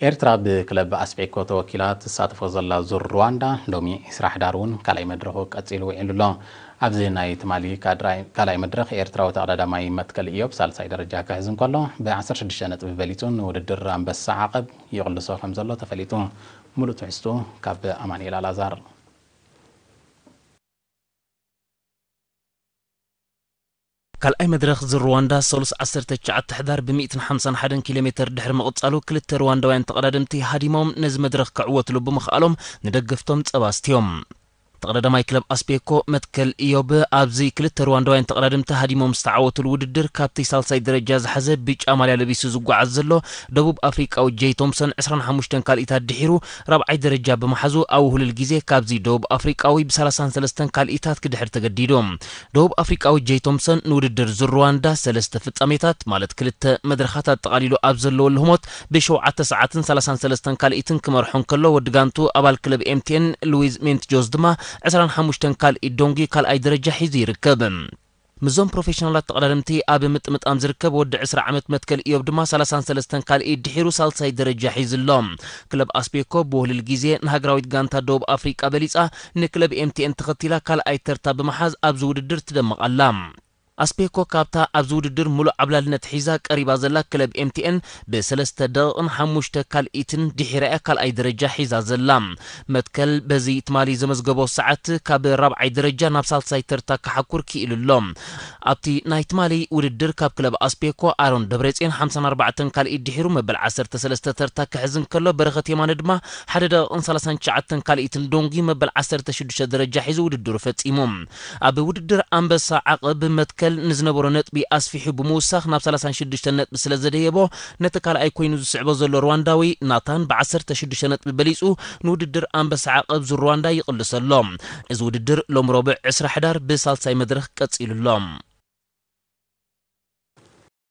ኤርትራ ብክለብ ኣስቤኮ ተወኪላ ትሳተፎ ዘላ ዙር ሩዋንዳ ሎሚ ዒስራ ሕዳር እውን ካልኣይ መድረኹ ቀጺሉ ውዒሉ ኣሎ። ኣብዚ ናይ ትማሊ ካድራይ ካልኣይ መድረኽ ኤርትራዊ ተቐዳዳማይ መትከል ኢዮብ ሳልሳይ ደረጃ ክሕዝ እንከሎ፣ ብ ዓሰርተ ሽዱሽተ ነጥቢ በሊጹ ንውድድር ኣንበሳ ዓቐብ ይቕልሶ ከም ዘሎ ተፈሊጡ። ሙሉእ ትሕዝቱ ካብ ኣማኑኤል ኣልኣዛር። ካልኣይ መድረኽ ዙር ሩዋንዳ ሰሉስ ዓሰርተ ትሽዓተ ሕዳር ብ ሚእትን ሓምሳን ሓደን ኪሎ ሜተር ድሕሪ ምቕጻሉ፣ ክልተ ሩዋንዳውያን ተቐዳደምቲ ሃዲሞም ነዚ መድረኽ ክዕወትሉ ብምኽኣሎም ንደገፍቶም ጸባ ኣስትዮም። ተቐዳዳማይ ክለብ ኣስቤኮ መትከል ኢዮብ ኣብዚ ክልተ ሩዋንዳውያን ተቐዳደምቲ ሃዲሞም ዝተዓወትሉ ውድድር፣ ካብቲ ሳልሳይ ደረጃ ዝሓዘ ብጫ ማልያ ለቢሱ ዝጓዓዝ ዘሎ ደቡብ ኣፍሪቃዊ ጄይ ቶምሰን ዕስራን ሓሙሽተን ካልኢታት ድሒሩ ራብዓይ ደረጃ ብምሓዙ፣ ኣብ ውህሉል ግዜ ካብዚ ደቡብ ኣፍሪቃዊ ብ ሰላሳን ሰለስተን ካልኢታት ክድሕር ተገዲዱ። ደቡብ ኣፍሪቃዊ ጄይ ቶምሰን ንውድድር ዙር ሩዋንዳ ሰለስተ ፍጻሜታት፣ ማለት ክልተ መድረኻት ኣጠቓሊሉ ኣብ ዘለወሉ ህሞት፣ ብሸውዓተ ሰዓትን ሰላሳን ሰለስተን ካልኢትን ክመርሖ እንከሎ፣ ወዲ ጋንቱ ኣባል ክለብ ኤምቲኤን ሉዊዝ ሜንትጆዝ ድማ ዕስራን ሓሙሽተን ካልኢት ዶንጊ ካልኣይ ደረጃ ሒዙ ይርከብ። ምስዞም ፕሮፌሽናላት ተቐዳደምቲ ኣብ ምጥምጣም ዝርከብ ወዲ ዕስራ ዓመት መትከል ኢዮብ ድማ ሰላሳን ሰለስተን ካልኢት ድሒሩ ሳልሳይ ደረጃ ሒዙ ኣሎ። ክለብ ኣስቤኮ ብውህሉል ግዜ ንሃገራዊት ጋንታ ደቡብ ኣፍሪቃ በሊጻ፣ ንክለብ ኤምቲኤን ተኸቲላ ካልኣይ ተርታ ብምሓዝ ኣብዚ ውድድር ትደምቕ ኣላ። ኣስቤኮ ካብታ ኣብዚ ውድድር ሙሉእ ዓብላልነት ሒዛ ቀሪባ ዘላ ክለብ ኤምቲኤን ብሰለስተ ደቂቕን ሓሙሽተ ካልኢትን ድሒራ እያ ካልኣይ ደረጃ ሒዛ ዘላ። መትከል በዚ ትማሊ ዘመዝገቦ ሰዓት ካብ ራብዓይ ደረጃ ናብ ሳልሳይ ተርታ ክሓኩር ክኢሉ ኣሎ። ኣብቲ ናይ ትማሊ ውድድር ካብ ክለብ ኣስቤኮ ኣሮን ደብረጽዮን ሓምሳን ኣርባዕተን ካልኢት ድሒሩ መበል ዓሰርተ ሰለስተ ተርታ ክሕዝ እንከሎ፣ በረኸት የማነ ድማ ሓደ ደቂቕን ሰላሳን ትሽዓተን ካልኢትን ዶንጊ መበል ዓሰርተ ሽዱሽተ ደረጃ ሒዙ ውድድሩ ፈጺሙ። ኣብ ውድድር ኣንበሳ ዓቐብ መትከል ንዝነበሮ ነጥቢ ኣስፊሑ ብምውሳኽ ናብ ሰላሳን ሽዱሽተን ነጥቢ ስለ ዘደየቦ፣ ነቲ ካልኣይ ኮይኑ ዝስዕቦ ዘሎ ሩዋንዳዊ ናታን ብ ዓሰርተ ሽዱሽተ ነጥቢ በሊጹ ንውድድር ኣንበሳ ዓቐብ ዙር ሩዋንዳ ይቕልስ ኣሎ። እዚ ውድድር ሎም ረቡዕ ዕስራ ሕዳር ብሳልሳይ መድረኽ ቀጺሉ ኣሎ።